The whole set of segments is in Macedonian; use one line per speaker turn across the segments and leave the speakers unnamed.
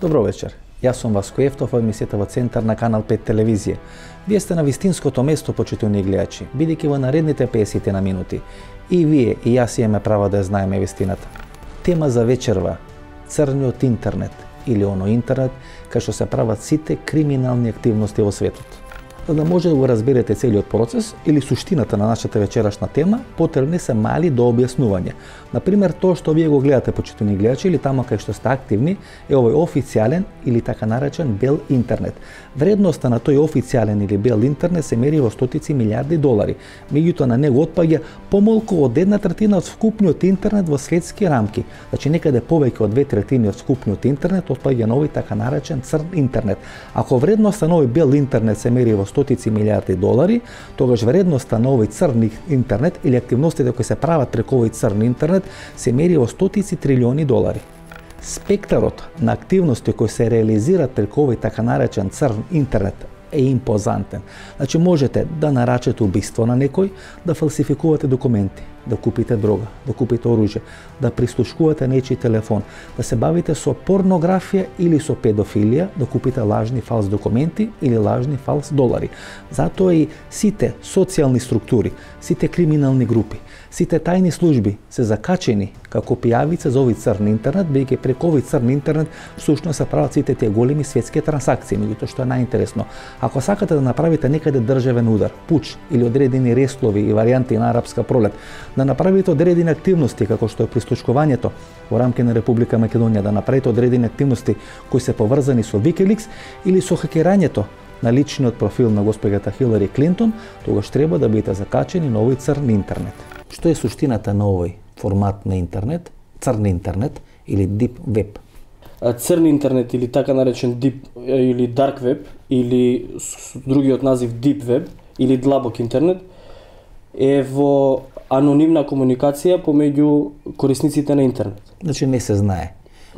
Добро вечер. Јас сум Васко Ефтов, во емисијата во Центар на Канал 5 телевизија. Вие сте на вистинското место, почитувани гледачи, бидејќи во наредните 50 на минути и вие и јас имаме право да ја знаеме вистината. Тема за вечерва: црниот интернет или оно интернет кај што се прават сите криминални активности во светот. За да може да го разберете целиот процес или суштината на нашата вечерашна тема, потребни се мали до објаснување. Например, тоа што вие го гледате, почитувани гледачи, или тамо кај што сте активни, е овој официјален или така наречен бел интернет. Вредноста на тој официјален или бел интернет се мери во стотици милиарди долари. Меѓутоа на него отпаѓа помалку од 1/3 од вкупниот интернет во светски рамки. Значи некаде повеќе од 2/3 од вкупниот интернет отпаѓа на овој така наречен црн интернет. Ако вредноста на овој бел интернет се мери во стотици милиарди долари, тогаш вредноста на овој црн интернет или активностите кои се прават преку овој црн интернет се мери во стотици трилиони долари. Спектарот на активности кои се реализираат преку овој така наречен црн интернет е импозантен. Значи можете да нарачете убиство на некој, да фалсификувате документи, да купите дрога, да купите оружје, да прислушкувате нечи телефон, да се бавите со порнографија или со педофилија, да купите лажни фалс документи или лажни фалс долари. Затоа и сите социјални структури, сите криминални групи, сите тајни служби се закачени како пијавица за овој црн интернет, бидејќи преку овој црн интернет всушност се прават сите тие големи светски трансакции. Меѓутоа што е најинтересно, ако сакате да направите некаде државен удар, пуч или одредени рестлови и варијанти на арапска пролет, да направите одредени активности како што е прислушкувањето во рамки на Република Македонија, да направите одредени активности кои се поврзани со Wikileaks или со хакерањето на личниот профил на госпоѓата Хилари Клинтон, тогаш треба да бидете закачени на овој црн интернет. Што е суштината на овој формат на интернет, црн интернет или deep web?
Црн интернет или така наречен deep или dark web или другиот назив deep web или длабок интернет е во анонимна комуникација помеѓу корисниците на интернет.
Значи не се знае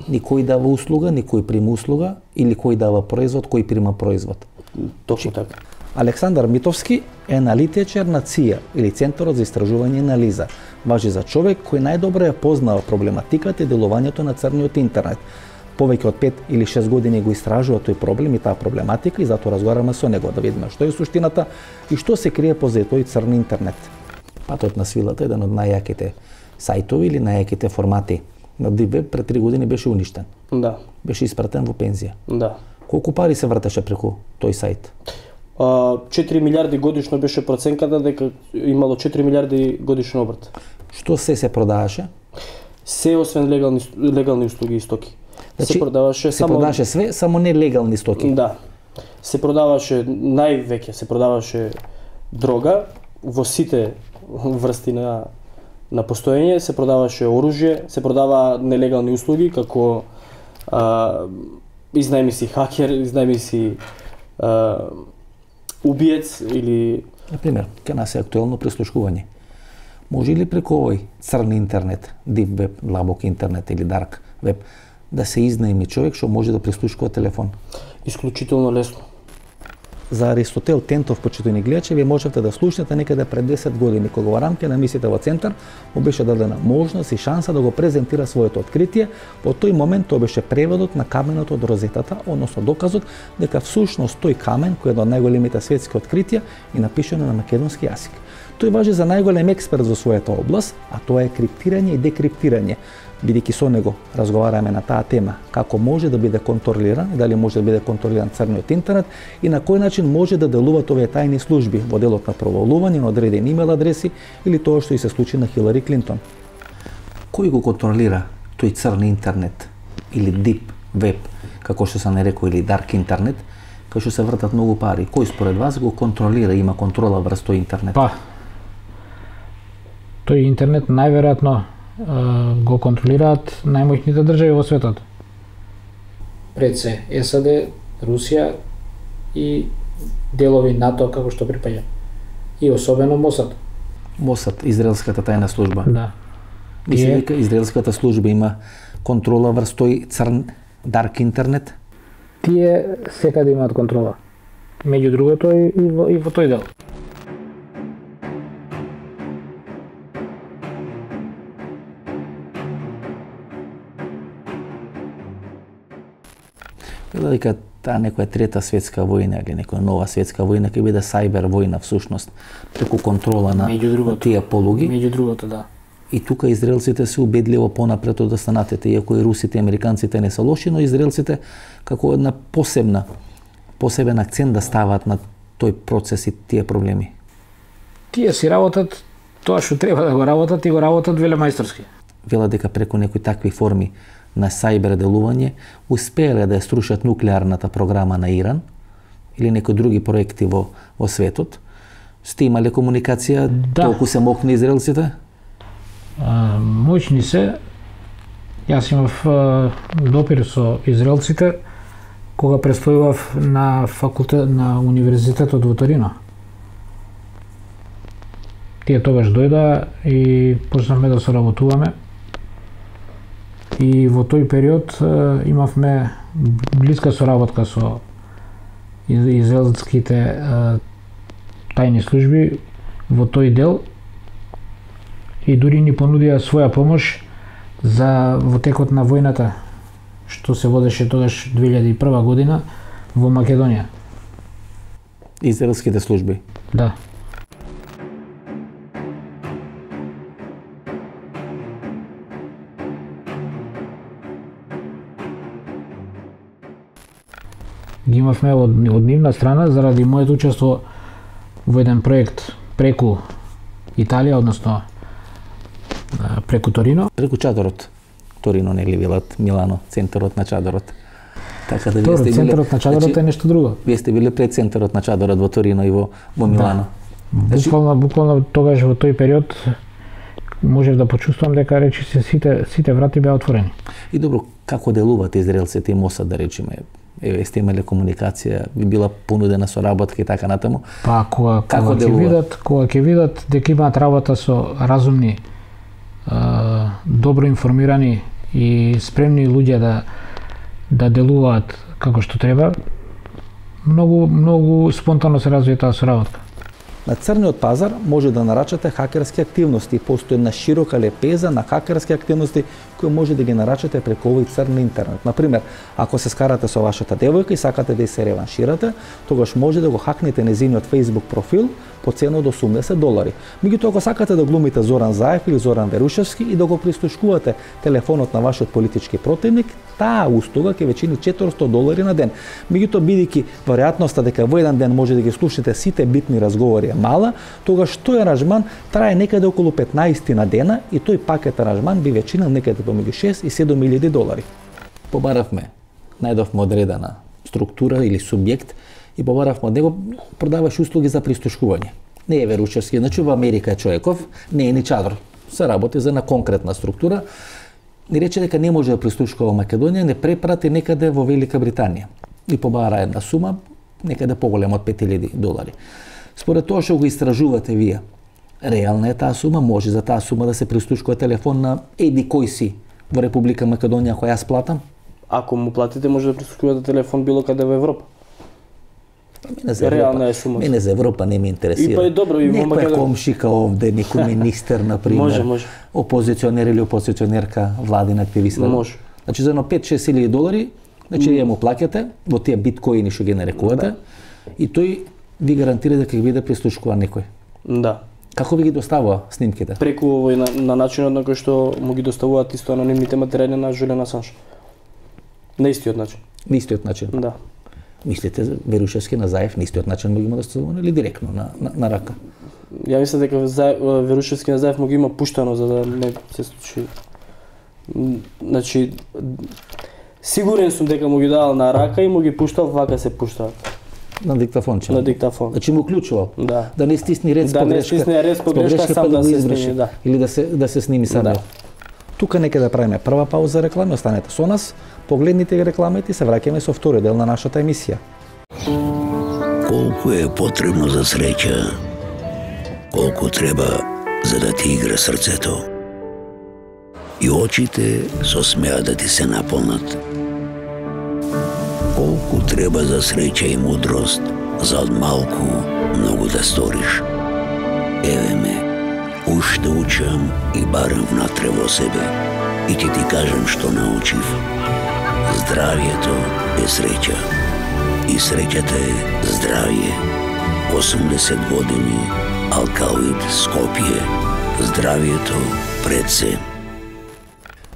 ни кој дава услуга, ни кој прима услуга или кој дава производ, кој прима производ.
Точно така.
Александар Митовски е аналитичар на ЦИА или Центарот за истражување и анализа. Важи за човек кој најдобро ја познава проблематиката и делувањето на црниот интернет. Повеќе од 5 или 6 години го истражува тој проблем и таа проблематика и затоа разговараме со него да видиме што е суштината и што се крие позади тој црн интернет. Патот на свилата е еден од најјаките сајтови или најјаките формати на Deep Web пред 3 години беше уништен.
Да.
Беше испратен во пензија.
Да.
Колку пари се вртеше преку тој сајт?
4 милиарди годишно беше проценката дека имало 4 милиарди годишен обрт.
Што се продаваше?
Се освен легални услуги и стоки.
Значи,
се продаваше
све, само не легални стоки.
Да. Се продаваше највеќе се продаваше дрога во сите врсти на постоење, се продаваше оружје, се продава нелегални услуги како изнајми си хакер, изнајми си убиец или...
Например, ке нас е актуелно прислушкување. Може ли преку овој црн интернет, deep web, длабок интернет или dark web, да се изнајми човек што може да прислушкува телефон?
Исклучително лесно.
За Аристотел Тентов, почитувани гледачи, вие можете да слушнете некаде пред 10 години, кога во рамки на емисијата во Центар му беше дадена можност и шанса да го презентира своето откритие. Во тој момент тоа беше преводот на каменот од розетата, односно доказот дека всушност тој камен, кој е од најголемите светски откритија, е напишано на македонски јазик. Тој важи за најголем експерт во својата област, а тоа е криптирање и декриптирање. Бидејќи со него разговараме на таа тема, како може да биде контролиран и дали може да биде контролиран црниот интернет и на кој начин може да делуваат овие тајни служби во делот на провалување на одредени имейл адреси или тоа што и се случи на Хилари Клинтон. Кој го контролира тој црн интернет или deep web, како што се нарекува, или dark интернет, кај што се вртат многу пари? Кој според вас го контролира, има контрола врз тој интернет?
Па, тој интернет најверојатно го контролираат најмоćните држави во светот. пред се САД, Русија и делови НАТО како што припаѓа. И особено Мосад.
Мосад, израелската тајна служба.
Да.
Мисли дека израелската служба има контрола врз тој црн дарк интернет?
Тие секаде имаат контрола. Меѓу другото и во тој дел.
Вела дека таа некоја трета светска војна или некоја нова светска војна ќе биде сајбер војна всушност, преку контрола на тие полуги.
Меѓу другото, да.
И тука израелците се убедливо понапред од останатите, иако и русите и американците не се лоши, но израелците како една посебен акцент да стават на тој процес и тие проблеми.
Тие си работат тоа што треба да го работат и го работат велемајсторски.
Вела дека преку некои такви форми на сајбер делување успеале да ја струшат нуклеарната програма на Иран или некои други проекти во светот. Сте имале комуникација, толку се мокни израелците?
Моćни се. Јас имав допир со израелците кога престојував на факултет на универзитетот во Торино. Тие тогаш дојда и почнавме да соработуваме. И во тој период имавме блиска соработка со израелските тајни служби во тој дел и дури ни понудија своја помош за во текот на војната што се водеше тогаш 2001 година во Македонија.
Израелските служби?
Да. Ги имавме од нивна страна заради моето учество во еден проект преку Италија, односно преку Торино.
Преку чадорот. Торино нели велат Милано, центарот на чадорот. Така да
вие сте центарот на чадорот е нешто друго.
Вие сте биле пред центарот на чадорот во Торино и во Милано.
Да. Буквално тогаш во тој период можев да почувствувам дека речи се сите врати беа отворени.
И добро, како делуваат израелците и Мосад, да речеме? Еве, сте имале комуникација, би била понудена соработка и така натаму.
Па кога ќе видат дека имаат работа со разумни, добро информирани и спремни луѓе да делуваат како што треба, многу спонтано се развива таа соработка.
На црниот пазар може да нарачате хакерски активности. Постои една широка лепеза на хакерски активности кои може да ги нарачате преку овој црн интернет. Например, ако се скарате со вашата девојка и сакате да се реванширате, тогаш може да го хакнете незиниот Facebook профил по цена од $80. Меѓутоа, ако сакате да глумите Зоран Заев или Зоран Верушевски и да го пристушкувате телефонот на вашиот политички противник, таа услуга ќе ве чини $400 на ден. Меѓутоа, бидејќи веројатноста дека во еден ден може да ги слушате сите битни разговори е мала, тогаш тој аранжман трае некаде околу 15 на дена и тој пакет аранжман би ве чинил некаде помеѓу $6 и $7,000. Побаравме, најдовме одредена структура или субјект и побаравме од него, продаваш услуги за пристушкување. Не е Верушевски, значи во Америка е човеков, не е ни чадор. Се работи за една конкретна структура. Ни рече дека не може да пристушкува Македонија, не препрати некаде во Велика Британија. И побара една сума, некаде поголема од $5,000. Според тоа што го истражувате вие, реална е таа сума, може за таа сума да се пристушкува телефон на еди кој си во Република Македонија која јас платам?
Ако му платите, може да пристушкувате телефон било каде во Европа.
Реална е сума. Мене за Европа не ме интересира.
И па е добро и во
Македонија. Некоја комшика овде, некој министер, например.
Може.
Опозиционер или опозиционерка, владин активист.
Може.
Значи за едно $5-6 илјади, значи ја му плаќате во тие биткоини што ги нарекувате, и тој ви гарантира дека ќе биде пристушкуван некој.
Да.
Како ви ги доставува снимките?
Преку на начинот на кој што му ги доставуваат исто анонимните материјали на Жулијан Асанж. На истиот начин.
На истиот начин?
Да.
Мислите Верушевски на Заев на истиот начин му ги има доставувано или директно на рака?
Ја мислам дека Верушевски на Заев му ги има пуштано за да не се случи. Значи сигурен сум дека му ги давал на рака и му ги пуштал вака се пуштаат.
На диктафонче.
На диктафон.
Значи му клучувал.
Да.
Да не стисни ред
с погрешка. Да не стисне ред с погрешка, сам да се сними, да.
Или да се сними сам.
Да.
Тука нека да правиме прва пауза реклами, останете со нас, погледнете ги рекламите и се враќаме со втори дел на нашата емисија.
Колку е потребно за среќа, колку треба за да ти игра срцето. И очите со смеа да ти се наполнат. Колку треба за среќа и мудрост, за од малку многу да сториш. Еве ме, уште учам и барам внатре во себе. И ќе ти кажам што научив. Здравието е среќа. И среќата е здравие. 80 години, Алкалоид, Скопје. Здравието пред се.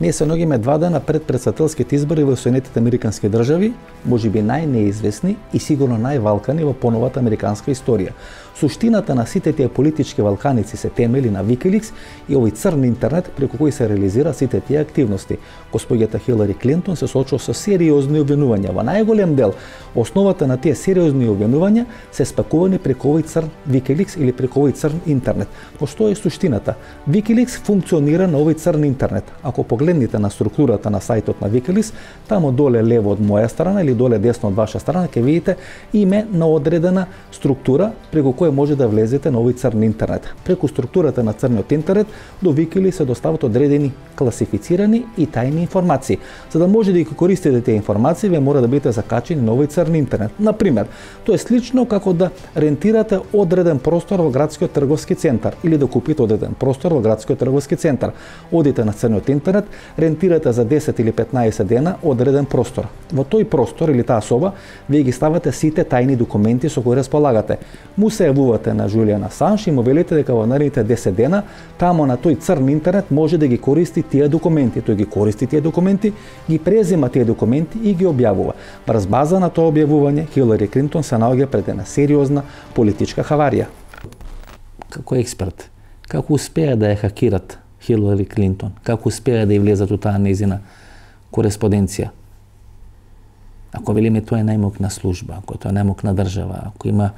Ние се наоѓаме 2 дена пред претседателските избори во Соединетите Американски држави, можеби најнеизвестни и сигурно највалкани во поновата американска историја. Суштината на сите тие политички валканици се темели на Wikileaks и овој црн интернет преку кој се реализира сите тие активности. Госпоѓата Хилари Клинтон се соочува со сериозни обвинувања. Во најголем дел, основата на тие сериозни обвинувања се спакувани преку овој црн Wikileaks или преку овој црн интернет. По што е суштината? Wikileaks функционира на овој црн интернет. Ако погледнете на структурата на сајтот на Wikileaks, таму доле лево од моја страна или доле десно од ваша страна ќе видите име на одредена структура преку која може да влезете на овој црн интернет. Преку структурата на црниот интернет до Wikileaks се достават одредени класифицирани и тајни информации. За да може да ги користите тие информации, вие мора да бидете закачени на овој црн интернет. Например, тоа е слично како да рентирате одреден простор во градскиот трговски центар или да купите одреден простор во градскиот трговски центар. Одите на црниот интернет, рентирате за 10 или 15 дена одреден простор. Во тој простор или таа соба, вие ги ставате сите тајни документи со кои располагате. Му се јавувате на Жулијан Асанж и му велите дека во наредните 10 дена тамо на тој црн интернет може да ги користи тие документи. Тој ги користи тие документи, ги презема тие документи и ги објавува. Врз база на тоа објавување, Хилари Клинтон се наоѓа пред една сериозна политичка хаварија. Како експерт, како успеа да ја хакират Хилари Клинтон? Како успеа да ја влезат у таа нејзина кореспонденција? Ако велиме тоа е најмокна служба, ако тоа е најмокна држава, ако има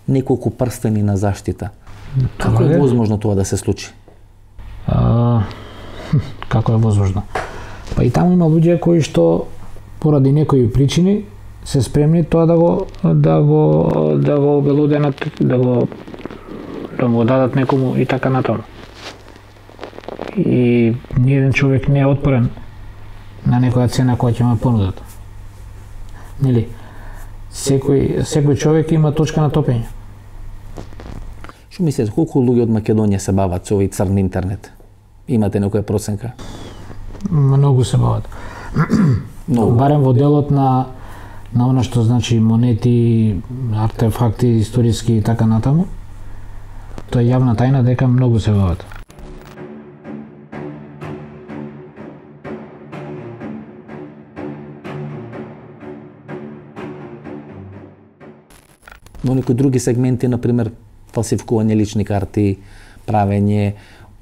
неколку прстени на заштита, како е возможно тоа да се случи?
Како е возможно? Па и таму има луѓе кои што поради некои причини се спремни тоа да го обелоденат, да го дадат некому и така натаму. И ниеден човек не е отпорен на некоја цена која ќе му понудат. Нели? Секој човек има точка на топење.
Што мислите, колку луѓе од Македонија се бават со овој црн интернет? Имате некоја проценка?
Многу се бават. Барем во делот на она што значи монети, артефакти, историски и така натаму. Тоа е јавна тајна дека многу се бават.
Но некои други сегменти, например, фалсификување лични карти, правење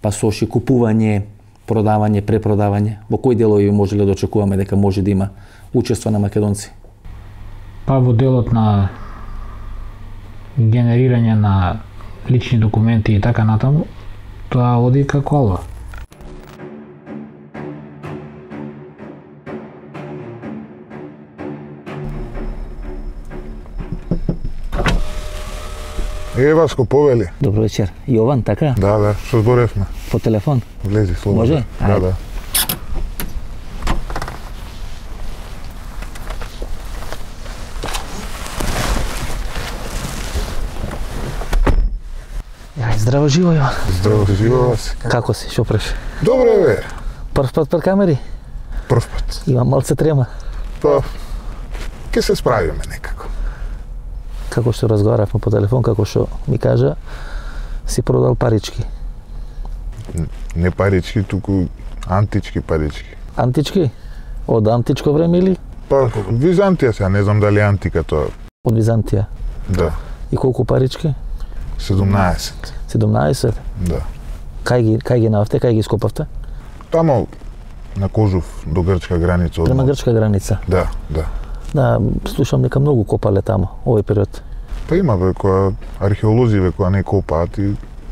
пасоши, купување, продавање, препродавање. Во кој делови можеле да очекуваме дека може да има учество на македонци?
Па во делот на генерирање на лични документи и така натаму, тоа оди како алва.
Васко, повели.
Добро вечер. Јован, така?
Да, што зборевме.
По телефон?
Влези, слободно.
Може?
Да.
Здраво живо, Јован.
Здраво живо, Васи.
Како си, шо преш?
Добре, бе.
Прв пат пред камери?
Прв пат.
Имам малце трема.
Па, ке се справиме некако.
Како што разговаравме по телефон, како што ми кажа, си продал парички.
Не парички, туку антички парички.
Антички? Од античко време или?
Па, Византија сега, не знам дали антика тоа.
Од Византија?
Да.
И колку парички?
17.
17?
Да.
Кај ги наавте, кај ги скопавте?
Тамо на Кожув до грчка граница.
Према грчка граница?
Да.
Да, слушам дека многу копале тамо, овој период.
Па има која археолози која не копаат,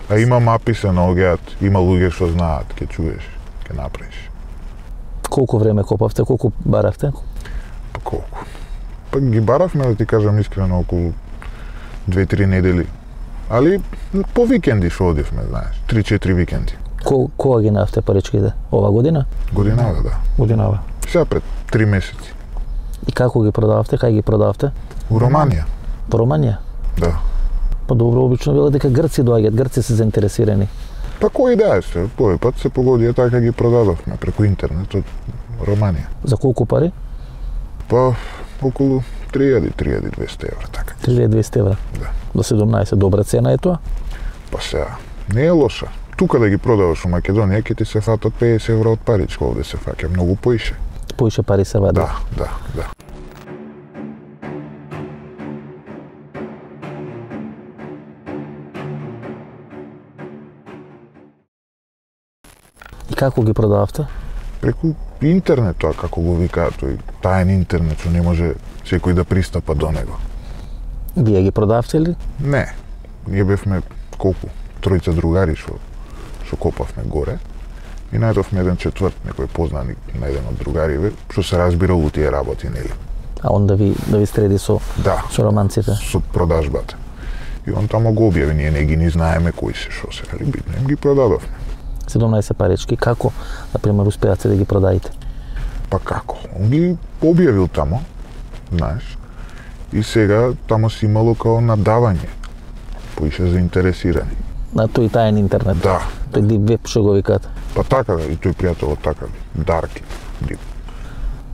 а има мапи се наоѓаат, има луѓе што знаат, ќе чуеш, ќе направиш.
Колку време копавте, колку баравте?
Па колку? Па ги баравме, да ти кажам искрено, околу 2-3 недели. Али по викенди што одивме, знаеш, 3-4 викенди.
Кога ги наавте паричките? Ова година?
Годинава, да.
Годинава.
Сега пред 3 месеци.
И како ги продававте? Кај ги продававте?
У Романија.
По Романија?
Да.
Па добро, обично било дека грци доаѓаат, грци се заинтересирани.
Па кој да се, тој пат се погодија така ги продадовме преку интернет од Романија.
За колку пари?
Па околу 3200 евра, така.
3200 евра?
Да.
До 17, добра цена е тоа?
Па сега, не е лоша. Тука да ги продаваш у Македонија, ќе ти се фатат 50 евра од паричка, овде се фаќа многу поише.
Поише пари се вади?
Да.
И како ги продававте?
Преку интернет тоа, како го викаат, тој таен интернет, што не може секој да пристапа до него.
Вие ги продавте ли?
Не, ние бевме колку? Тројца другари што копавме горе и најдовме еден четврт, некој познаник на еден од другариве, што се разбирал у тие работи, нели?
А он да ви среди со романците?
Со продажбата. И он тамо го објави, ние не ги ни знаеме кои се, што се, али битно им ги продадовме.
17 парички, како, например, успеате да ги продаите?
Па како? Он ги објавил тамо, знаеш, и сега тамо си имало као надавање, поише заинтересирани.
На тој таен интернет?
Да.
Тој дип веб што го викаат?
Па така, и тој пријателот така, Дарки, дип.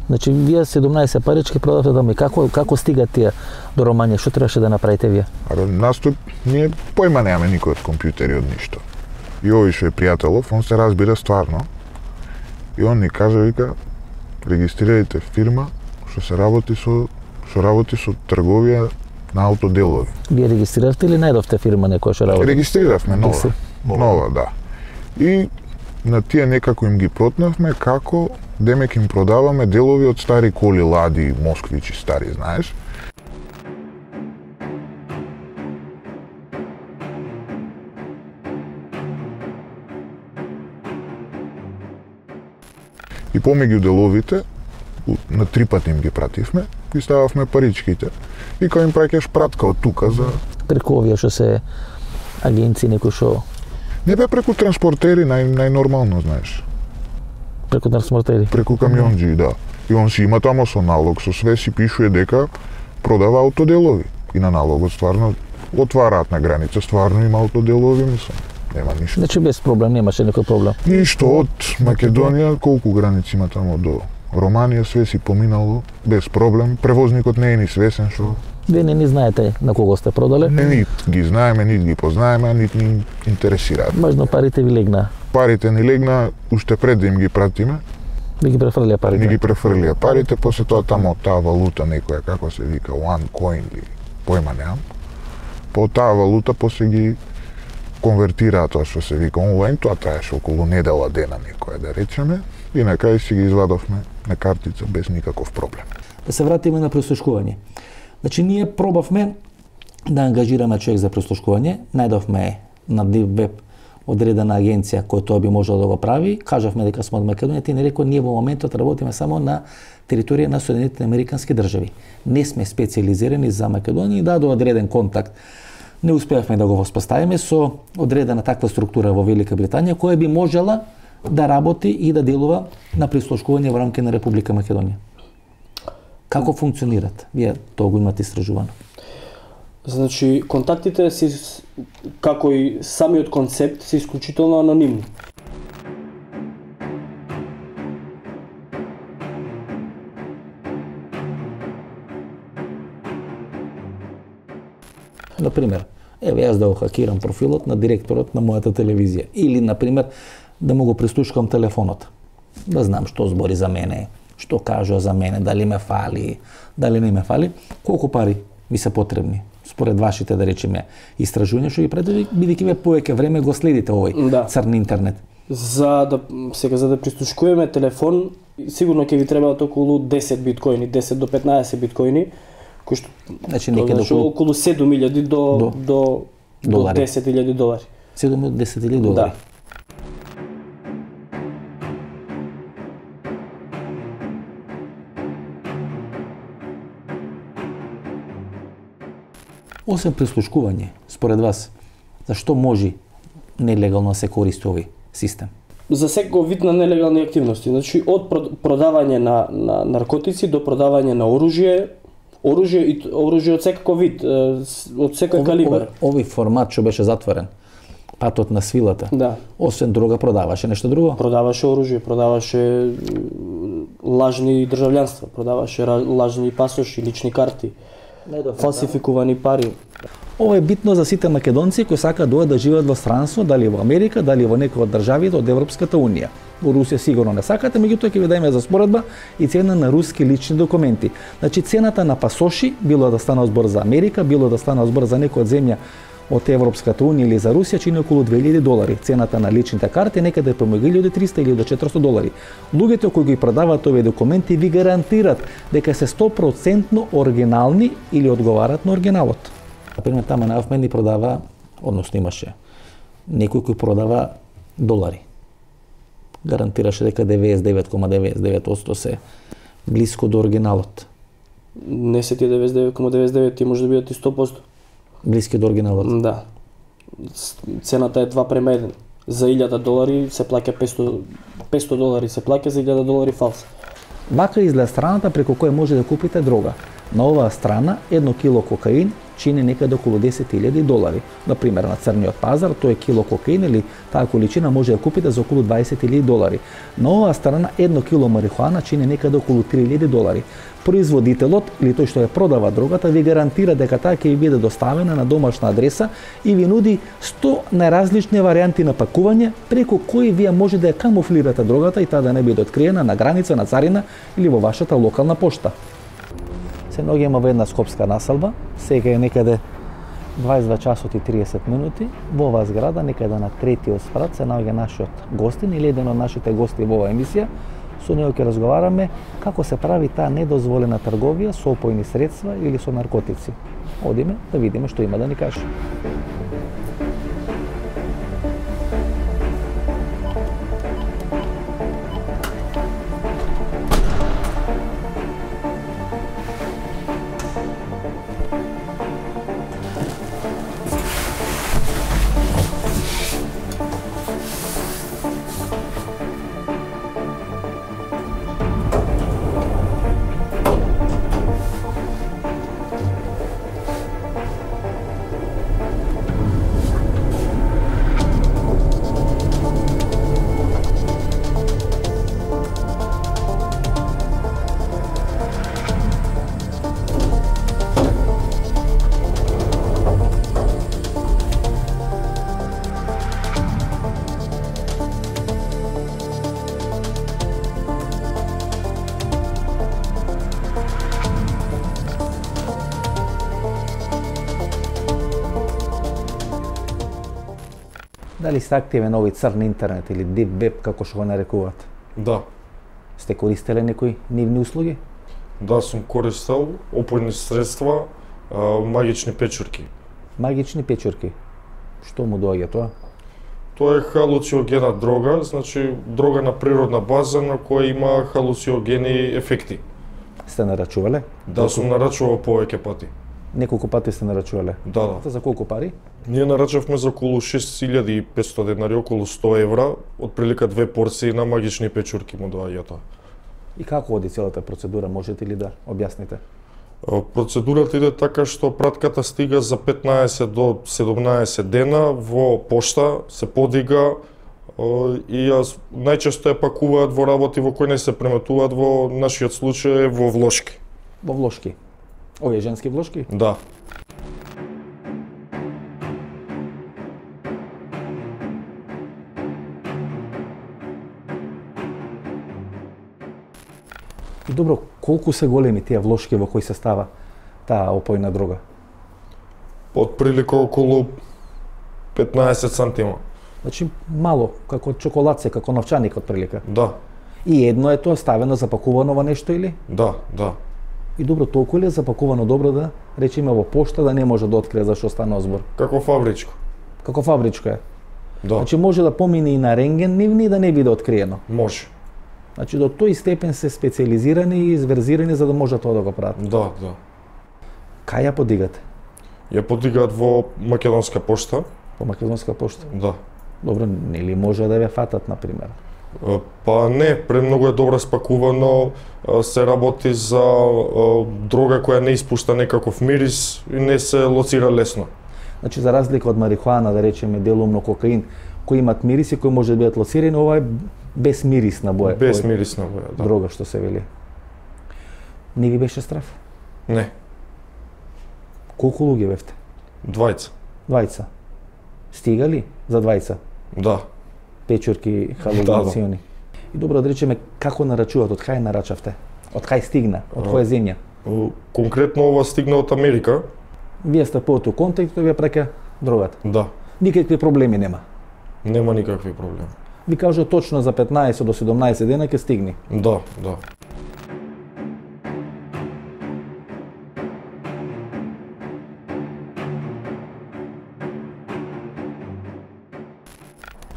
Значи, вие 17 парички продавате тамо и како стигат тие до Романија? Што требаше да направите вие?
Абе, ние појма немаме никој од компјутери, од ништо. И овој што е пријателов, он се разбира стварно. И он ни кажа, вика, регистрирајте фирма што работи со трговија на аутоделови.
Вие регистрирате или најдовте фирма некоја што работи?
Регистриравме нова, да. И на тие некако им ги протнавме како демек им продаваме делови од стари коли, Лади, Москвичи, стари, знаеш. И помеѓу деловите, на 3 пати им ги пративме, ги стававме паричките. И кога им праќаш пратка од тука за...
Преку овие што се агенции, некои што...
Не бе преку транспортери, најнормално, знаеш.
Преку транспортери?
Преку камионџи, да. И он си има тамо со налог, со све си пишува дека продава аутоделови. И на налогот стварно отвараат на граница, стварно има аутоделови, мислам. Нема ништо.
Значи без проблем, немаше никој проблем.
Ништо, од Македонија, колку граници има тамо до Романија, све си поминало без проблем. Превозникот не е ни свесен што...
Вие не ни знаете на кого сте продале?
Не ги знаеме, нит ги познаеме, нит ни интересираат.
Важно парите ви легна.
Парите ни легна уште пред да им ги пратиме.
Ви ги префрлија парите?
Ни ги префрлија парите, после тоа тамо таа валута некоја, како се вика, OneCoin или појма немам. По таа валута после ги конвертираат тоа што се вика онлайн, тоа траеше околу недела дена некоја да речеме, и на крај си ги извадовме на картица без никаков проблем.
Да се вратиме на прислушкување. Значи, ние пробавме да ангажираме човек за прислушкување, најдовме на Deep Web одредена агенција која тоа би можела да го прави, кажавме дека сме од Македонија, ти не рекол, ние во моментот работиме само на територија на Соединетите Американски држави. Не сме специализирани за Македонија и до одреден контакт не успеавме да го воспоставиме со одредена таква структура во Велика Британија која би можела да работи и да делува на прислушкување во рамки на Република Македонија. Како функционират? Вие тоа го имате истражувано.
Значи, контактите си, како и самиот концепт, се исклучително анонимни.
Например, јас да го хакирам профилот на директорот на мојата телевизија. Или, например, да му го прислушкам телефонот. Да знам што збори за мене, што кажува за мене, дали ме фали, дали не ме фали. Колку пари ви се потребни? Според вашите, да речеме, истражувања што ги правите, бидејќи ве повеќе време го следите овој црн интернет.
За да прислушкуваме телефон, сигурно ќе ви требаат околу 10 биткоини, 10 до 15 биткоини, кои што
значи некаде
околу 7.000 до 10.000 долари.
7 до 10.000 долари.
Да.
Освен прислушкување, според вас, зашто може нелегално да се користи овој систем?
За секој вид на нелегални активности, значи од продавање на наркотици до продавање на оружје од секако вид, од секој калибар.
Овој формат што беше затворен, патот на свилата,
Да.
освен дрога продаваше нешто друго?
Продаваше оружје, продаваше лажни државјанства, продаваше лажни пасоши, лични карти, фалсификувани пари.
Ова е битно за сите македонци кои сакаат да живеат во странство, дали во Америка, дали во некој од државите од Европската унија. Во Русија сигурно не сакате, меѓутоа ќе ви дадеме за споредба и цена на руски лични документи. Значи цената на пасоши, било да стана збор за Америка, било да стана збор за некоја од земја од Европската унија или за Русија, чини околу $2000. Цената на личните карти некаде помеѓу $1300 или $400. Луѓето кои ги продаваат овие документи ви гарантират дека се 100% оригинални или одговарат на оригиналот. Например, тама на Афмен ни продава, односно имаше некој кој продава долари. Гарантираше дека 99,99% се блиско до оригиналот.
Не се ти 99,99, ти може да бидат и 100%.
Блиски до оригиналот.
Да. Цената е 2:1. За $1000 се плаќа $500 се плаќа, за $1000 фалс.
Вака изгледа страната преку која може да купите дрога. На оваа страна 1 кило кокаин чини некаде околу $10,000. Например, на црниот пазар тој кило кокаин или таа количина може да купите за околу $20,000. На оваа страна 1 кило марихуана чини некаде околу $3,000. Производителот или тој што ја продава дрогата ви гарантира дека таа ќе ви биде доставена на домашна адреса и ви нуди 100 најразлични варијанти на пакување преку кои вие може да ја камуфлирате дрогата и таа да не биде откриена на граница, на царина или во вашата локална пошта. Се наоѓаме во една скопска населба, сега е некаде 22 часот и 30 минути. Во оваа зграда, некаде на третиот спрат, се наоѓа нашиот гостин или еден од нашите гости во оваа емисија. Со него ќе разговараме како се прави таа недозволена трговија со опојни средства или со наркотици. Одиме да видиме што има да ни каже. Дали сте активен овој црн интернет или deep web, како што го нарекуваат?
Да.
Сте користеле некои нивни услуги?
Да, сум користел опојни средства, магични печурки.
Магични печурки. Што му доаѓа тоа?
Тоа е халуциогена дрога, значи дрога на природна база на која има халуциогени ефекти.
Сте нарачувале?
Да, сум нарачувал повеќе пати.
Неколку пати сте нарачувале?
Да.
За колку пари?
Ние нарачавме за околу 6500 денари, околу 100 евра, отприлика 2 порции на магични печурки му доаѓа тоа.
И како оди целата процедура, можете ли да објасните?
Процедурата иде така што пратката стига за 15 до 17 дена во пошта, се подига и најчесто ја пакуваат во работи во кои не се преметуваат, во нашиот случај во влошки.
Во влошки? Овие женски влошки?
Да.
И добро, колку се големи тие влошки во кои се става таа опојна дрога?
Отприлика околу 15 сантима.
Значи мало, како чоколадце, како новчаник отприлика.
Да.
И едно е тоа ставено, запакувано во нешто или?
Да, да.
И добро, толку ли е запакувано добро да речеме во пошта да не може да открие зашто стана збор?
Како фабричко.
Како фабричко е?
Да.
Значи може да помине и на рентген нивни да не биде откриено.
Може.
Значи до тој степен се специализирани и изверзирани за да може тоа да го прават.
Да, да.
Кај ја подигате?
Ја подигаат во македонска пошта.
По македонска пошта.
Да.
Добро, нели може да ве фатат на пример?
Па не, премногу е добро спакувано, се работи за дрога која не испушта некаков мирис и не се лоцира лесно.
Значи за разлика од марихуана, да речеме делумно кокаин, кои имат мириси кои може да бидат лоцирани, ова е без мирисна боја.
Без мирисна боја, да.
Дрога што се вели. Не ви беше страф?
Не.
Колку луѓе бевте? Двајца. Стига ли за двајца?
Да.
Печурки, халуцинациони. И добро да речеме како нарачуваат, од кај нарачавте? Од кај стигна? Од која земја?
Конкретно ова стигна од Америка.
Вие сте по тој контекст, тој ви ја праќа дрогата.
Да.
Никакви проблеми нема.
Нема никакви проблеми.
Ви кажа точно за 15 до 17 дена ќе стигне.
Да, да.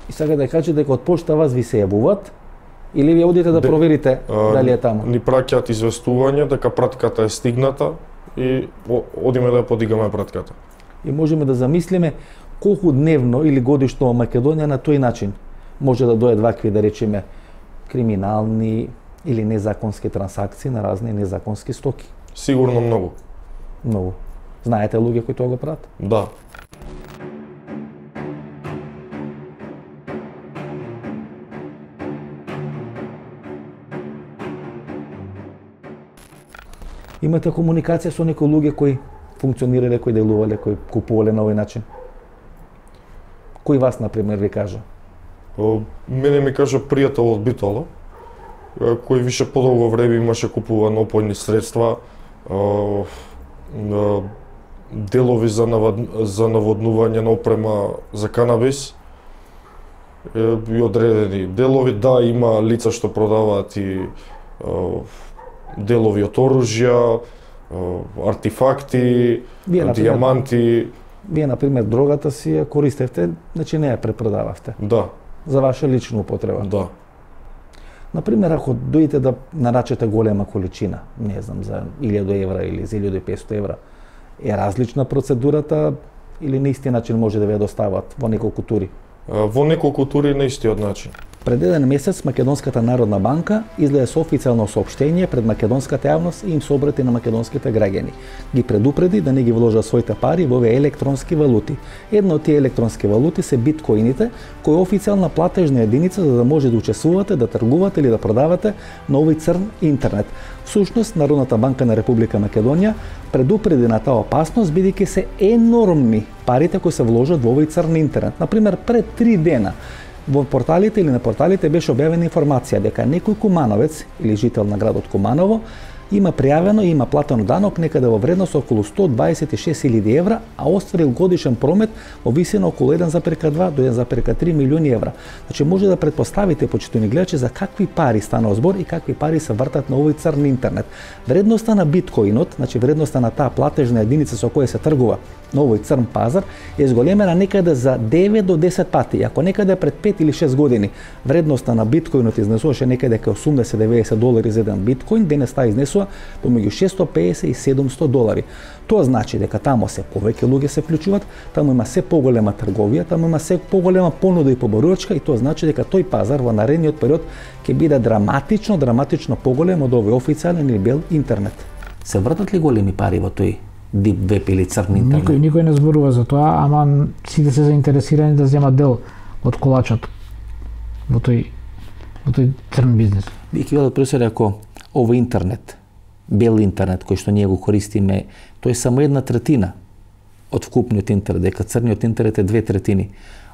И сега да кажете дека од пошта вас ви се јавуваат или ви одите да проверите дали е таму?
Ни праќаат известување дека пратката е стигната и одиме да ја подигаме пратката.
И можеме да замислиме колку дневно или годишно во Македонија на тој начин може да дојдат вакви, да речеме, криминални или незаконски трансакции на разни незаконски стоки.
Сигурно многу.
Многу. Знаете луѓе кои тоа го прават?
Да.
Имате комуникација со некои луѓе кои функционирале, кои делувале, кои купувале на овој начин? Кој вас, например, ви кажа?
Мене ми кажа пријател од Битола, кој више подолго време имаше купувано опојни средства, делови за наводнување на опрема за канабис, и одредени делови. Да, има лица што продаваат и делови од оружја, артефакти, дијаманти.
Вие, например, дрогата си ја користевте, значи не ја препродававте.
Да.
За ваша лична употреба.
Да.
Например, ако дојдете да нарачате голема количина, не знам, за 1000 евра или за 1500 евра, е различна процедурата или на исти начин може да ве достават во неколку тури?
Во неколку тури на истиот начин.
Пред еден месец Македонската народна банка излезе со официјално соопштение пред македонската јавност и им се обрати на македонските граѓани. Ги предупреди да не ги вложат своите пари во овие електронски валути. Една од тие електронски валути се биткоините, кои е официјална платежна единица за да може да учествувате, да тргувате или да продавате на овој црн интернет. Всушност, Народната банка на Република Македонија предупреди на таа опасност бидејќи се енормни парите кои се вложат во овој црн интернет. Например, пред 3 дена во порталите или на порталите беше објавена информација дека некој кумановец или жител на градот Куманово има пријавено и има платено данок некаде во вредност околу 126.000 евра, а остварил годишен промет во висина околу 1,2 до 1,3 милиони евра. Значи може да претпоставите, почитувани гледачи, за какви пари станува збор и какви пари се вртат на овој црн интернет. Вредноста на биткоинот, значи вредноста на таа платежна единица со која се тргува на овој црн пазар е зголемена некаде за 9 до 10 пати. Ако некаде пред 5 или 6 години вредноста на биткоинот изнесуваше некаде кај 80-90 долари за еден биткоин, денес таа изнесува помеѓу 650 и 700 долари. Тоа значи дека таму се повеќе луѓе се вклучуваат, таму има се поголема трговија, таму има се поголема понуда и поборувачка и тоа значи дека тој пазар во наредниот период ќе биде драматично поголем од овој официјален или бел интернет. Се вртат ли големи пари во тој дип веб или црн интернет?
Никој не зборува за тоа, ама сите се заинтересирани да земат дел од колачот во тој црн бизнес.
Бих велел професор, ако овој интернет, бел интернет кој што ние го користиме, тој е само 1/3 од вкупниот интернет, дека црниот интернет е 2/3.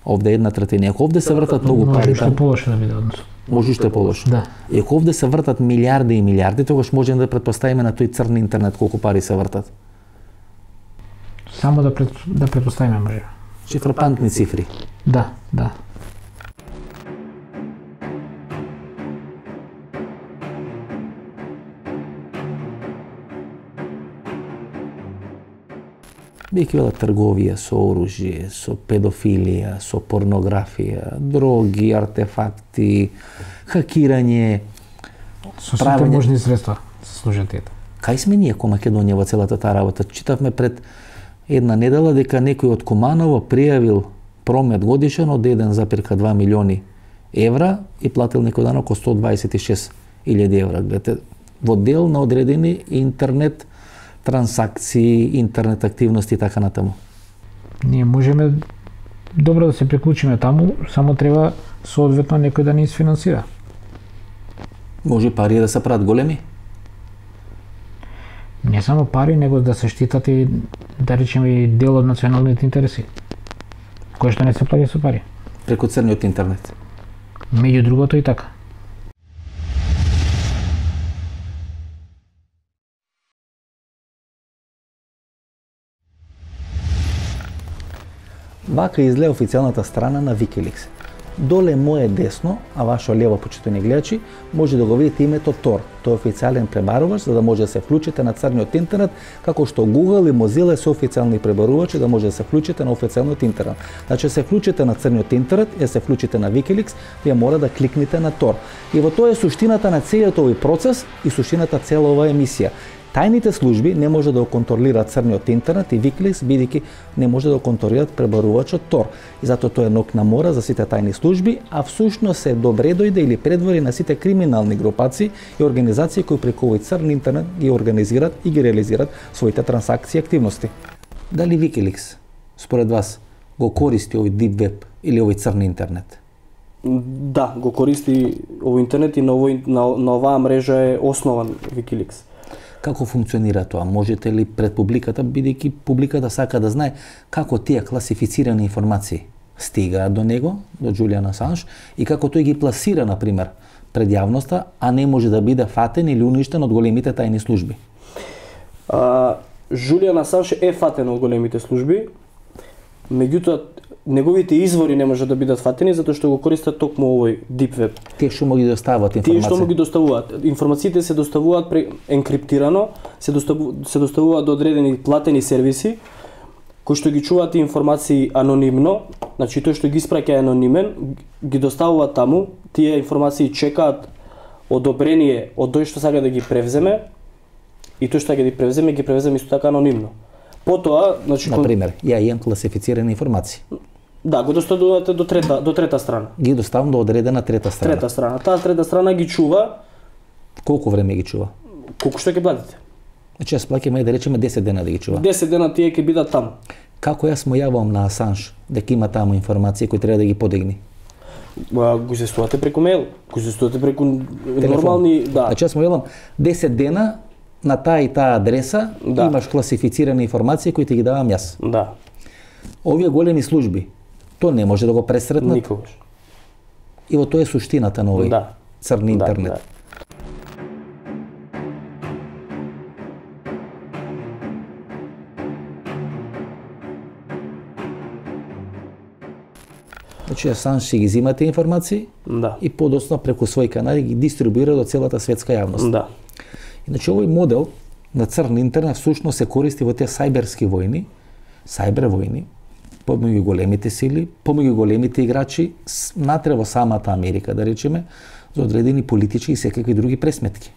Овде е 1/3. Ако овде се вртат многу пари,
може уште полошо да биде однос.
Може уште полошо.
Да.
И ако овде се вртат милиарди и милиарди, тогаш можеме да претпоставиме на тој црн интернет колку пари се вртат.
Само да претпоставиме може.
Фрапантни цифри.
Да.
Бих велел трговија со оружје, со педофилија, со порнографија, дроги, артефакти, хакирање,
Со сите можни средства се служат тие.
Кај сме ние ко Македонија во целата таа работа? Читавме пред една недела дека некој од Куманово пријавил промет годишен од 1,2 милиони евра и платил некој дан околу 126.000 евра. Гледате, во дел на одредени интернет трансакции, интернет активности и така натаму.
Ние можеме добро да се приклучиме таму, само треба соодветно некој да ни изфинансира.
Може пари да се прават големи?
Не само пари, него да се штитат и, да речеме, и дел од националните интереси, кои што не се плаќа со пари.
Преку црниот интернет.
Меѓу другото и така.
Вака изгледа официјалната страна на Wikileaks. Доле мое десно, а ваше лево, почитувани гледачи, може да го видите името Tor. Тој е официјален пребарувач за да може да се вклучите на црниот интернет, како што Google и Mozilla се официјални пребарувачи да може да се вклучите на официјалниот интернет. Значи, се вклучите на црниот интернет и се вклучите на Wikileaks, вие мора да кликнете на Tor. И во тоа е суштината на целиот овој процес и суштината цела оваа емисија. Тајните служби не може да го контролираат црниот интернет и Wikileaks, бидејќи не може да го контролираат пребарувачот Tor. И затоа тоа е ног на мора за сите тајни служби, а всушност се добре дојде или предвори на сите криминални групации и организации кои преку овој црн интернет ги организираат и ги реализираат своите трансакции и активности. Дали Wikileaks, според вас, го користи овој Deep Web или овој црн интернет?
Да, го користи овој интернет и на оваа мрежа е основан Wikileaks.
Како функционира тоа? Можете ли пред публиката, бидејќи публиката сака да знае како тие класифицирани информации стигаат до него, до Џулијан Асанж, и како тој ги пласира, например, пред јавноста, а не може да биде фатен или уништен од големите тајни служби?
Џулијан Асанж е фатен од големите служби, меѓутоа неговите извори не може да бидат фатени затоа што го користат токму овој Deep Web.
Тие што му ги доставуваат информација?
Тие што му ги доставуваат. Информациите се доставуваат енкриптирано, се доставуваат до одредени платени сервиси кои што ги чуваат информации анонимно, значи тој што ги испраќа е анонимен, ги доставуваат таму, тие информации чекаат одобрение од тој што сака да ги превземе и тој што ќе ги превземе исто така анонимно. Потоа, значи,
например, ја имам класифицирани информации.
Да, го доставувате до трета страна.
Ги доставам до одредена трета страна.
Трета страна. Таа трета страна ги чува.
Колку време ги чува?
Колку што ќе платите?
Значи јас плаќам да речеме 10 дена да ги чува.
10 дена тие ќе бидат таму.
Како јас му јавам на Асанж дека има таму информации кои треба да ги подигни?
Го известувате преку мејл, го известувате преку нормални, да.
Значи јас му јавам 10 дена на таа и таа адреса, да, имаш класифицирани информации кои ти ги давам јас.
Да.
Овие големи служби, тоа не може да го пресретнат.
Никогаш.
И во тоа е суштината на овој црн интернет.
Да.
Значи Асанж си ги зема тие информации,
да, и
подоцна преку своји канали ги дистрибуира до целата светска јавност.
Да.
Иначе овој модел на црн интернет всушност се користи во тие сајберски војни, сајбер војни, помеѓу големите сили, помеѓу големите играчи, натре во самата Америка, да речеме, за одредени политички и секакви други пресметки.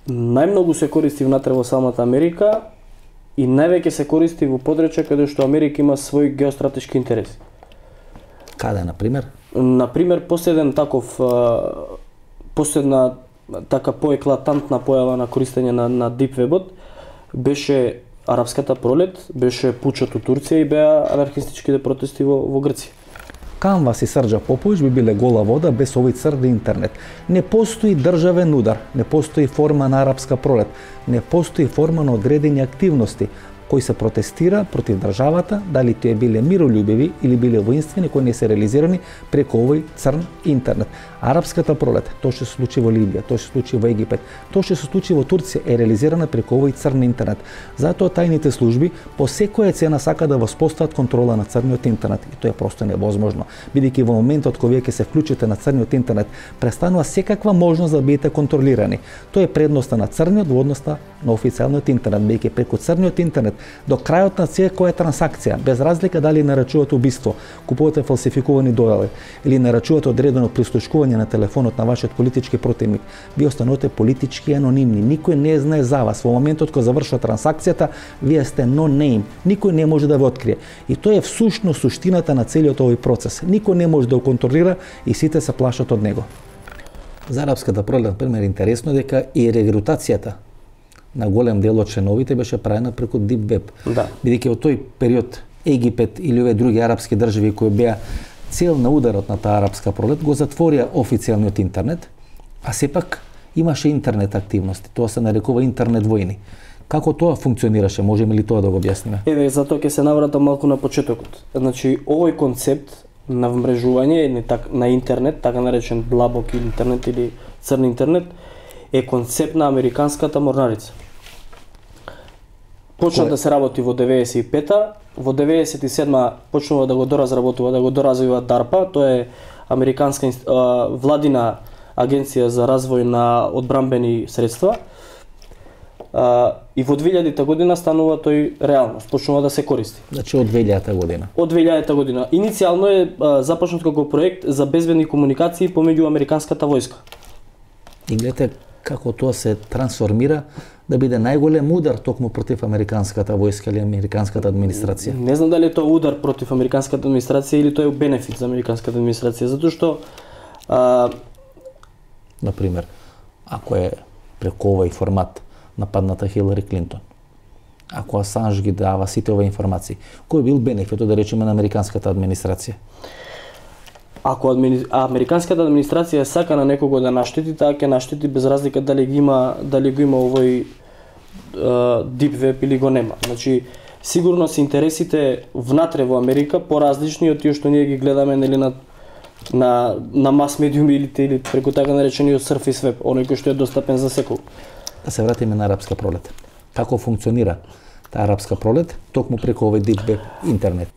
Најмногу се користи внатре во самата Америка и највеќе се користи во подречја каде што Америка има свој геостратешки интереси.
Каде, например?
Например, последна така поеклатантна појава на користење на Deep Web-от беше арапската пролет, беше пучот у Турција и беа анархистичките протести во Грција.
Канвас и Срđа Поповиќ би биле гола вода без овој црн интернет. Не постои државен удар, не постои форма на арапска пролет, не постои форма на одредени активности кои се протестира против државата, дали тие биле миролюбиви или биле воинствени, кои не се реализирани преку овој црн интернет. Арапската пролет, тоа што се случи во Либија, тоа што се случи во Египет, тоа што се случи во Турција е реализирана преку овој црн интернет. Затоа тајните служби по секоја цена сака да воспостават контрола на црниот интернет и тоа е просто невозможно, бидејќи во моментот кога вие ќе се вклучите на црниот интернет, престанува секаква можност да бидете контролирани. Тоа е предноста на црниот во односта на официјалниот интернет, бидејќи преку црниот интернет до крајот на секоја трансакција, без разлика дали нарачувате убиство, купувате фалсификувани дојави или нарачувате одредено прислушкување на телефонот на вашиот политички противник, вие останувате политички анонимни. Никој не знае за вас. Во моментот кога завршува трансакцијата, вие сте no name. Никој не може да ве открие. И тоа е всушност суштината на целиот овој процес. Никој не може да го контролира и сите се плашат од него. За арапската пролет, например, интересно дека и регрутацијата на голем дел од членовите беше правена преку Deep Web.
Да.
Бидејќи во тој период Египет или овие други арапски држави кои беа цел на ударот на таа арапска пролет го затворија официјалниот интернет, а сепак имаше интернет активности. Тоа се нарекува интернет војни. Како тоа функционираше? Можеме ли тоа да го објасниме?
Еве, затоа ќе се навратам малку на почетокот. Значи, овој концепт на вмрежување на интернет, така наречен длабок интернет или црн интернет, е концепт на американската морнарица. Почна да се работи во 95-та, во 97-та почнува да го доразработува, да го доразвива DARPA, тоа е американска владина агенција за развој на одбранбени средства. И во 2000-та година станува тој реалност, почнува да се користи.
Значи од 2000-та година.
Од 2000-та година. Иницијално е започнат како проект за безбедни комуникации помеѓу американската војска.
И гледате како тоа се трансформира да биде најголем удар токму против американската војска или американската администрација.
Не знам дали е тоа удар против американската администрација или тоа е бенефит за американската администрација, затоа што
например, ако е преку овој формат нападната Хилари Клинтон, ако Асанж ги дава сите овие информации, кој бил бенефитот, да речеме, на американската администрација?
Ако американската администрација сака на некого да наштети, таа ќе наштети без разлика дали го има овој Deep Web или го нема. Значи, сигурно се интересите внатре во Америка поразлични од тие што ние ги гледаме нели на мас медиуми или преку така наречениот Surface Web, оној кој што е достапен за секој.
Да се вратиме на арапска пролет. Како функционира таа арапска пролет токму преку овој Deep Web интернет?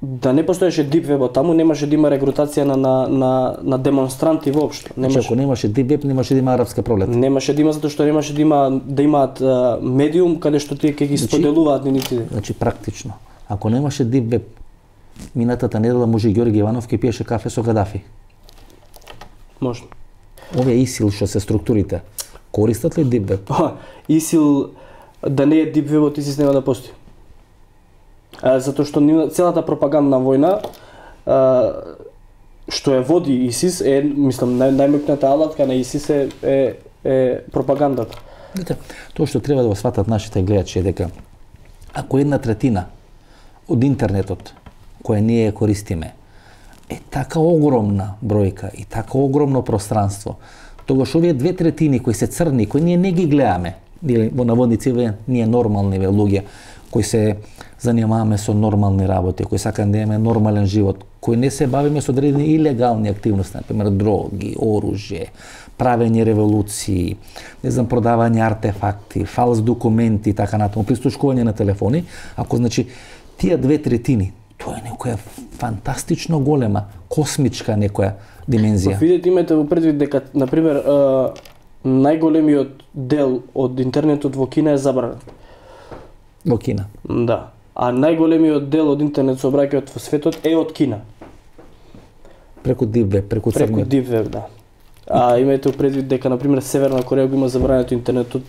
Да не постоеше Deep Web таму, немаше да има регрутација на демонстранти воопшто.
Значи, ако немаше Deep Web, немаше да има арапска пролет.
Немаше да има затоа што немаше да имаат медиум каде што тие ќе ги споделуваат нивните.
Значи практично, ако немаше Deep Web, минатата недела може Ѓорги Иванов ќе пиеше кафе со Гадафи.
Може.
Овие ИСИЛ што се структурите, користат ли Deep Web?
ИСИЛ да не е Deep Web, ИСИС нема да постои. Затоа што целата пропагандна војна што ја води ИСИС е, мислам, најмокната алатка на ИСИС е пропагандата.
Тоа што треба да го сватат нашите гледачи е дека ако 1/3 од интернетот која ние користиме е така огромна бројка и така огромно пространство, тогаш овие 2/3 кои се црни, кои ние не ги гледаме, или во наводници ние нормални луѓе кои се занимаваме со нормални работи, кои сакаме да имаме нормален живот, кои не се бавиме со одредени илегални активности, например дроги, оружје, правење револуции, не знам, продавање артефакти, фалс документи и така натаму, прислушкување на телефони, ако значи тие 2/3, тоа е некоја фантастично голема, космичка некоја димензија.
Видете, имате во предвид дека, например, најголемиот дел од интернетот во Кина е забранет.
Во Кина?
Да. А најголемиот дел од интернет сообраќајот во светот е од Кина.
Преку Deep Web, преку црниот.
Преку Deep Web, да. А имајте предвид дека, например, Северна Кореја го има забрането интернетот.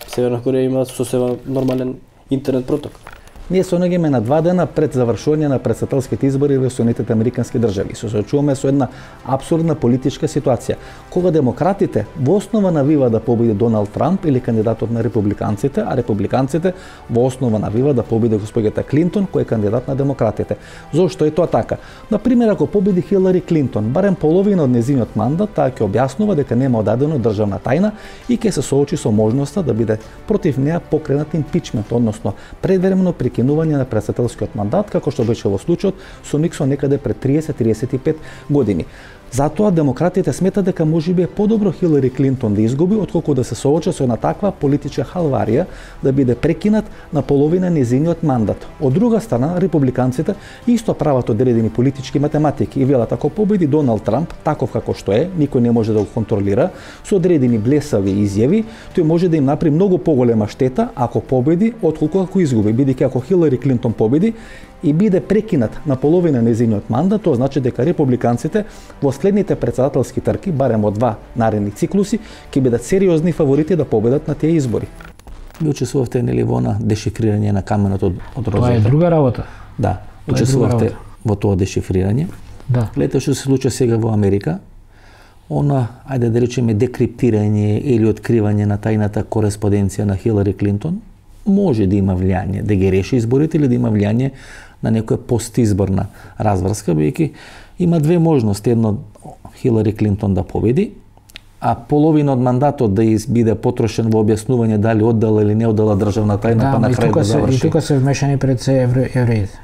Северна Кореја има сосема нормален интернет проток.
Ние се наоѓаме на 2 дена пред завршување на претседателските избори во Соединетите американски држави. Се соочуваме со една апсурдна политичка ситуација, кога демократите во основа навива да победи Доналд Трамп или кандидатот на републиканците, а републиканците во основа навива да победи госпоѓата Клинтон, кој е кандидат на демократите. Зошто е тоа така? Например, ако победи Хилари Клинтон, барем половина од нејзиниот мандат, таа ќе објаснува дека нема одадено државна тајна и ќе се соочи со можноста да биде против неа покренат импичмент, односно предвремено прекинување на претседателскиот мандат, како што беше во случајот со Никсон некаде пред 30-35 години. Затоа демократите сметат дека можеби е подобро Хилари Клинтон да изгуби отколку да се соочи со една таква политичка халварија да биде прекинат на половина нејзиниот мандат. Од друга страна, републиканците исто прават одредени политички математики и велат ако победи Доналд Трамп таков како што е, никој не може да го контролира, со одредени блесави изјави, тој може да им направи многу поголема штета ако победи отколку ако изгуби, бидејќи ако Хилари Клинтон победи и биде прекинат на половина нејзиниот мандат, тоа значи дека републиканците во следните претседателски трки, барем од 2 наредни циклуси, ќе бидат сериозни фаворити да победат на тие избори. Ви учествувавте нели во на дешифрирање на каменот од Розета?
Тоа е друга работа.
Да, учествувавте во тоа дешифрирање.
Да.
Гледате што се случува сега во Америка, она, ајде да речеме, декриптирање или откривање на тајната кореспонденција на Хилари Клинтон, може да има влијание, да ги реши изборите или да има влијание на некоја постизборна разврска, бидејќи има две можности. Едно, Хилари Клинтон да победи, а половина од мандатот да биде потрошен во објаснување дали оддала или не оддала државна тајна, па на крај да заврши.
И тука се вмешани пред се евреите.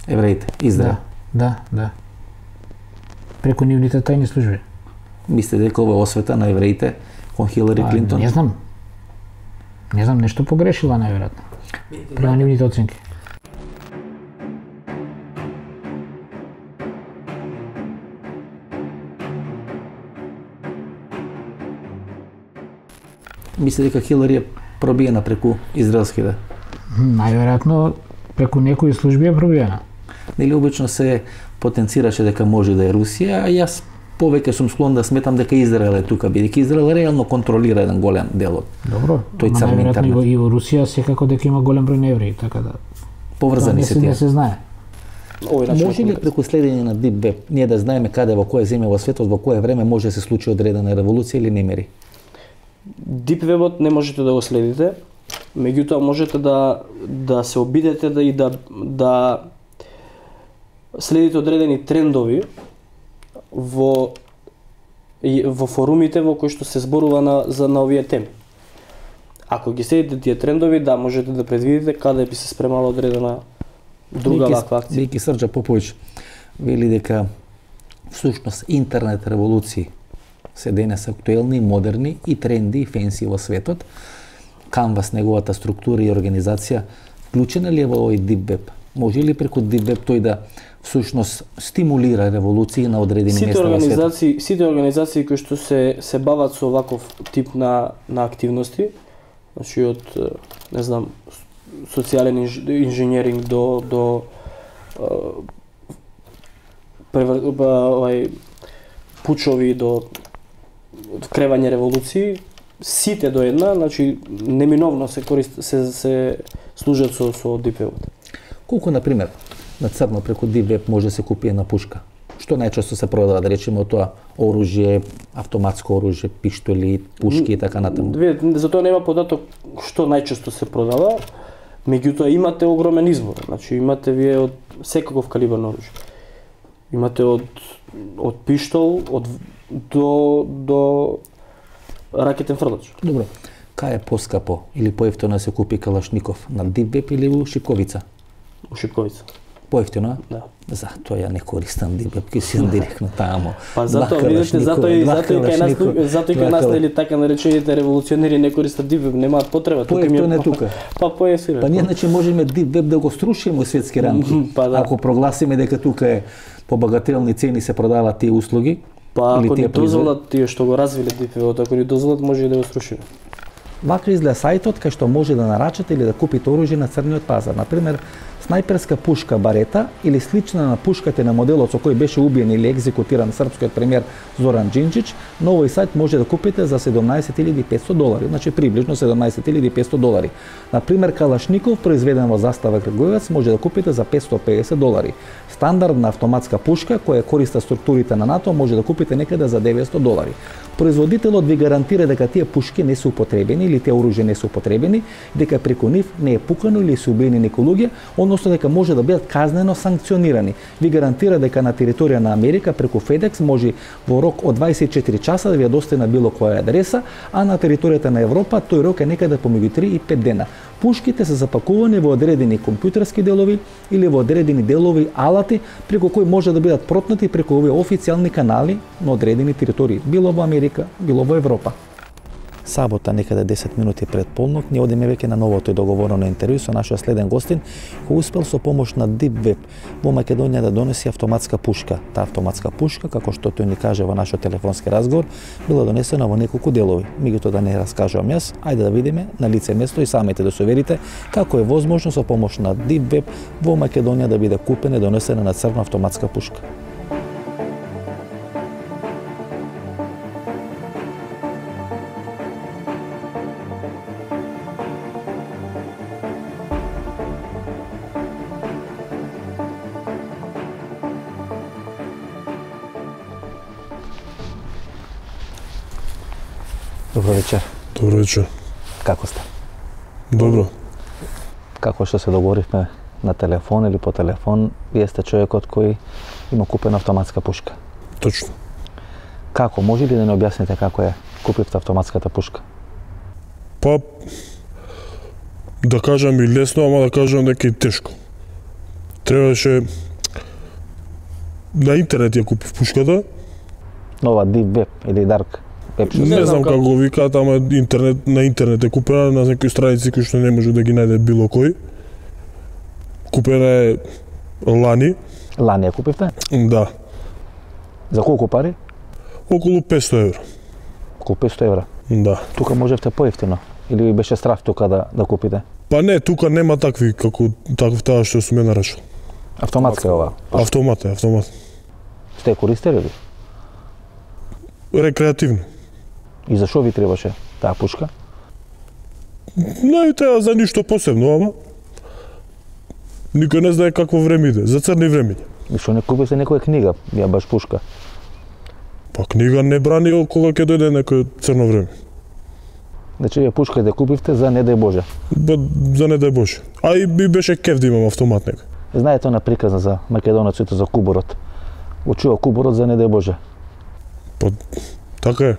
Евреите, Израел.
Да. Преку нивните тајни служби.
Мислите дека ова освета на евреите кон Хилари Клинтон?
Не знам. Не знам, нешто погрешила најверојатно. Према нивните оценки.
Мисли дека Хилари е пробиена преку израелските?
Најверојатно преку некои служби е пробиена.
Нели обично се потенцираше дека може да е Русија, а јас повеќе сум склон да сметам дека Израел е тука, бидејќи Израел реално контролира еден голем дел од
Добро,
тој цар на интернет.
И во Русија секако дека има голем број на евреи, така да
поврзани се тие.
Не се знае.
Може ли преку следење на Deep Web ние да знаеме каде, во која земја во светот, во кое време може да се случи одредена револуција или не мери?
Deep Web-от не можете да го следите, меѓутоа можете да се обидете да следите одредени трендови во форумите во кои што се зборува на овие теми. Ако ги следите тие трендови, да, можете да предвидите каде би се спремала одредена друга ваква акција.
Веќе Срđа Поповиќ вели дека всушност интернет револуции се денес актуелни, модерни и тренди и фенси во светот. Canvas, неговата структура и организација, вклучена ли е во овој Deep Web? Може ли преку Deep Web тој да всушност стимулира револуции на одредени места во светот?
Сите организации кои што се бават со ваков тип на активности, значи од не знам, социјален инженеринг до пучови до вкревање револуции, сите до една, значи неминовно се служат со Deep Web.
Колку, например, на црно преку Deep Web може да се купи една пушка? Што најчесто се продава, да речеме, од тоа оружје, автоматско оружје, пиштоли, пушки и така натаму?
За тоа нема податок што најчесто се продава, меѓутоа имате огромен избор. Значи имате вие од секаков калибар на оружје. Имате од пиштол до ракетен фрдач.
Добро. Кај е поскапо или поевтино да се купи калашников, на Deep Web или у Шипковица?
У Шипковица.
Поевтино?
Да.
Затоа ја не користам Deep Web, ке си директно таму.
Па затоа видите, затоа и кај нас нели така наречените револуционери не користат Deep Web, немаат потреба.
Поевтино е тука.
Па поесира.
Па ние значи можеме Deep Web да го струшиме во светски рамки.
Па да.
Ако прогласиме дека тука е по багателни цени се продаваат тие услуги,
па ако ни дозволат тие што го развиле Deep Web, ако ни дозволат може и да го струшиме.
Вака изгледа сајтот кај што може да нарачате или да купите оружје на црниот пазар. Например, снајперска пушка Барета или слична на пушката на моделот со кој беше убиен или екзекутиран српскиот премиер Зоран Џинџич, на овој сајт може да купите за $17,500, значи приближно $17,500. Например, калашников произведен во застава Крагуевац може да купите за $550. Стандардна автоматска пушка која користа структурите на НАТО може да купите некаде за $900. Производителот ви гарантира дека тие пушки не се употребени или тие оружје не се употребени, дека преку нив не е пукано или се убиени некои луѓе, односно односно дека може да бидат казнено санкционирани. Ви гарантира дека на територија на Америка преку FedEx може во рок од 24 часа да ви ја достави на било која адреса, а на територијата на Европа тој рок е некаде помеѓу 3 и 5 дена. Пушките се запакувани во одредени компјутерски делови или во одредени делови алати преку кои може да бидат протнати преку овие официјални канали на одредени територии, било во Америка, било во Европа. Сабота, некаде 10 минути пред полнок, ние одиме веќе на новото и договорено интервју со нашиот следен гостин, кој успел со помош на Deep Web во Македонија да донеси автоматска пушка. Таа автоматска пушка, како што тој ни каже во нашиот телефонски разговор, била донесена во неколку делови. Меѓутоа да не раскажувам јас, ајде да видиме на лице место и самите да се уверите како е возможно со помош на Deep Web во Македонија да биде купена и донесена на црна автоматска пушка. Добро вечер.
Добро вечер.
Како сте?
Добро.
Како што се договоривме на телефон или по телефон, вие сте човекот кој има купена автоматска пушка.
Точно.
Како? Може ли да не објасните како е купивте автоматската пушка?
Па, да кажам и лесно, ама да кажам дека и тешко. Требаше на интернет ја купив пушката.
Нова Deep Web или Dark Web?
Не знам како викаат, ама на интернет е купена на некои страници кои што не може да ги најде било кој. Купена е лани.
Лани ја купивте?
Да.
За колку пари?
Околу 500 евро.
Околу 500 евра.
Да.
Тука можевте поевтино? Или ви беше страф тука да купите?
Па не, тука нема такви како таа што сум ја нарачал.
Автоматска е ова?
Автомат.
Сте користеле ли?
Рекреативно.
И зашо ви требаше таа пушка?
Не треба за ништо посебно, ама никој не знае какво време иде, за црни времиња.
И што не купите некоја книга, ја баш пушка?
Па книга не брани кога ќе дојде некој црно време.
Значи ја пушка да купивте за не дај Боже?
За не дај Боже. А и би беше кеф да имам автомат некој.
Знаете она приказна за македонеците за кубурот? Учува кубурот за не дај Боже.
Па така е.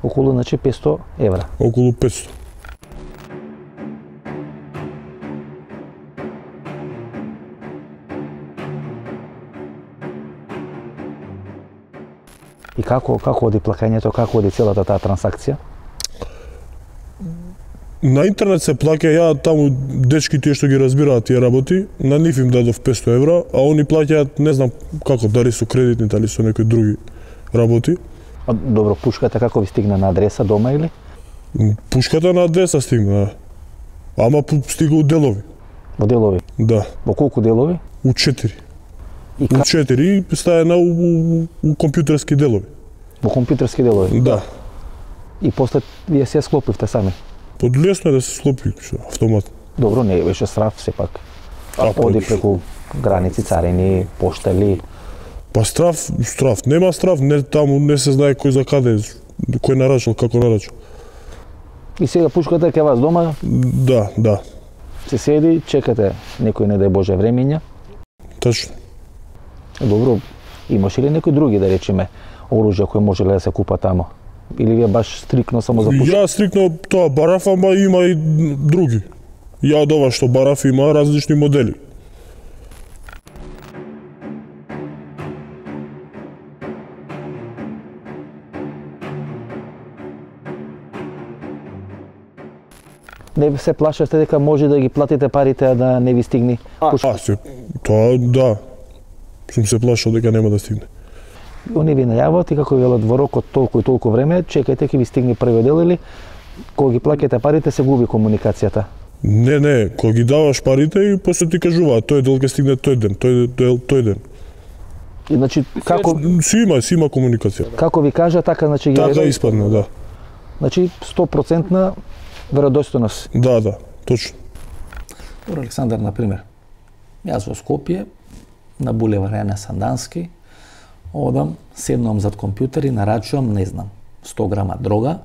Околу, значи, 500 евра.
Околу 500.
И како оди плаќањето, како оди целата таа трансакција?
На интернет се плаќа, ја таму дечки тие што ги разбираат тие работи, на нив им дадов 500 евра, а они плаќаат не знам како, дали со кредитни, дали со некои други работи.
А, добро, пушката како ви стигна на адреса дома или?
Пушката на адреса стигна, ама стига у делови.
Во делови?
Да.
Во колку делови?
У 4.
И
У 4 и стаена у компјутерски делови.
Во компјутерски делови?
Да.
И после вие се склопивте сами?
Под лесно е да се склопи автомат.
Добро, не беше страф сепак.
А,
Оди преку граници, царини, поштали.
Па страф. Нема страф, не таму не се знае кој за каде, кој нарачал, како нарачал.
И сега пушката е кај вас дома?
Да.
Се седи, чекате некој не дај Боже времиња.
Точно.
Добро, имаше ли некои други, да речеме, оружја кои можеле да се купа тамо? Или вие баш стрикно само за пушка?
Ја стрикно тоа бараф, ама има и други. Ја од ова што бараф има различни модели.
Не се плашате дека може да ги платите парите, а да не ви стигне пушка?
Тоа да. Сум се плашал дека нема да стигне.
Они ви најават и како велат во рок од толку и толку време, чекајте ќе ви стигне првиот дел или кога ги плаќате парите се губи комуникацијата?
Не, кога ги даваш парите и после ти кажуваат тој дел ќе стигне тој ден, тој ден.
И значи како
Си има комуникација.
како ви кажа така значи ги
Така испадна, да.
Значи 100% веродостојност.
Да, точно.
Добро, Александар, на пример, јас во Скопје на булевар Јане Сандански одам, седнувам зад компјутер и нарачувам, не знам, 100 грама дрога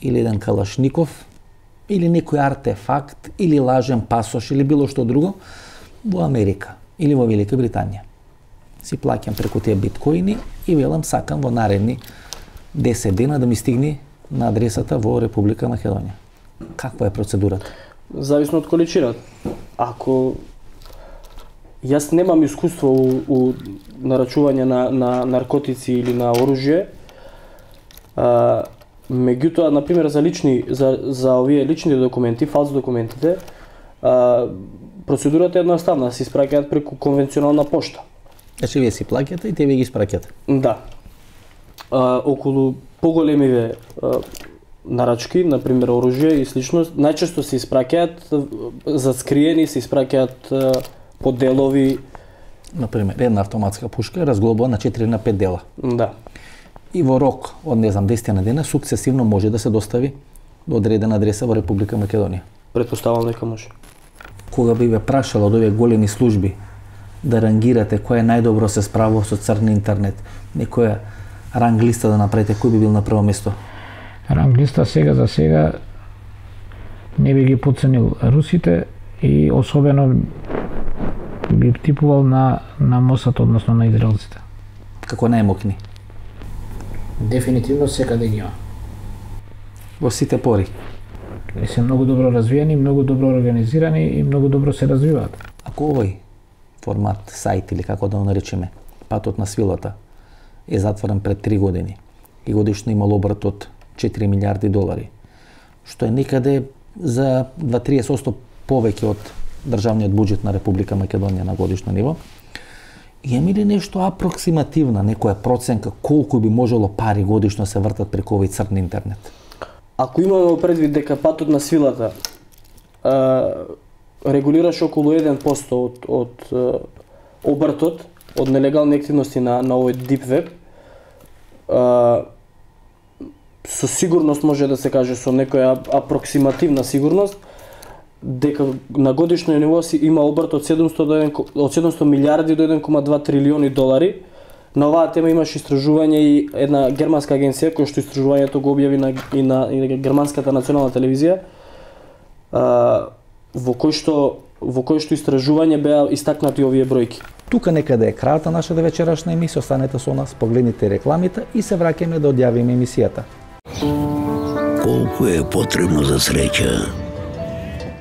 или еден калашников или некој артефакт, или лажен пасош, или било што друго, во Америка или во Велика Британија. Си плаќам преку тие биткоини и велам сакам во наредни 10 дена да ми стигне на адресата во Република Македонија. Каква е процедурата?
Зависно од количината. Ако јас немам искуство у нарачување на наркотици или на оружје, меѓутоа, например, за овие лични документи, фалс документите, процедурата е едноставна, се испраќаат преку конвенционална пошта.
Значи вие си плаќате и те ви ги испраќате?
Да. Околу поголемиве нарачки, например оружје и слично, најчесто се испраќаат заскриени, се испраќаат по делови.
Например, една автоматска пушка е разглобува на 4 на 5 дела.
Да.
И во рок од 10 на дена сукцесивно може да се достави до одредена адреса во Република Македонија.
Претпоставам дека може.
Кога би ве прашала од овие големи служби да рангирате кој е најдобро се справува со црн интернет, некоја ранг листа да направите, кој би бил на прво место?
Ранг листа за сега не би ги подценил русите и особено би типувал на Мосад, односно на израелците.
Како најмокни?
Дефинитивно секаде ги има.
Во сите пори.
И се многу добро развиени, многу добро организирани и многу добро се развиваат.
Ако овој формат, сајт или како да го наречеме, патот на свилата, е затворен пред 3 години и годишно имал обрат од 4 милиарди долари, што е некаде за 2-30% повеќе од државниот буџет на Република Македонија на годишно ниво, имаме ли нешто апроксимативна, некоја проценка колку би можело пари годишно се вртат преку овој црн интернет?
Ако имаме предвид дека патот на свилата регулираш околу 1% од обртот од нелегални активности на овој deep web, со сигурност може да се каже, со некоја апроксимативна сигурност, дека на годишно ниво си има обрт од 700 милиарди до 1,2 трилиони долари. На оваа тема имаш истражување и една германска агенција која што истражувањето го објави и на германската национална телевизија, во кој што истражување беа истакнати овие бројки.
Тука некаде е крајот на нашата вечерашна емисија, останете со нас, погледнете рекламите и се враќаме да одјавиме емисијата.
Колку е потребно за среќа,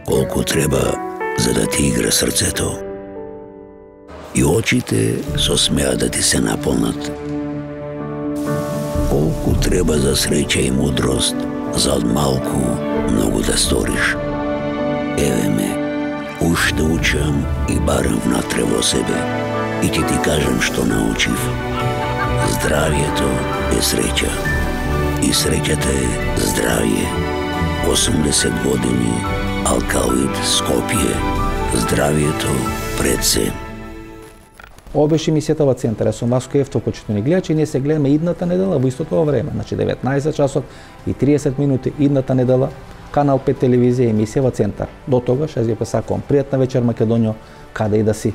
колку треба за да ти игра срцето. И очите со смеа да ти се наполнат. Колку треба за среќа и мудрост, за од малку многу да сториш. Еве ме, уште учам и барам внатре во себе. И ќе ти кажам што научив. Здравието е среќа. И среќата е здравје. 80 години, Алкалоид, Скопје. Здравието пред се.
Ова беше емисијата во Центар. Јас сум Васко Евтов, почитувани гледачи, и ние се гледаме идната недела во истото време, значи 19 часот и 30 минути идната недела, Канал 5 телевизија, емисија во Центар. До тогаш, јас ви посакувам пријатна вечер Македонијо, каде и да си.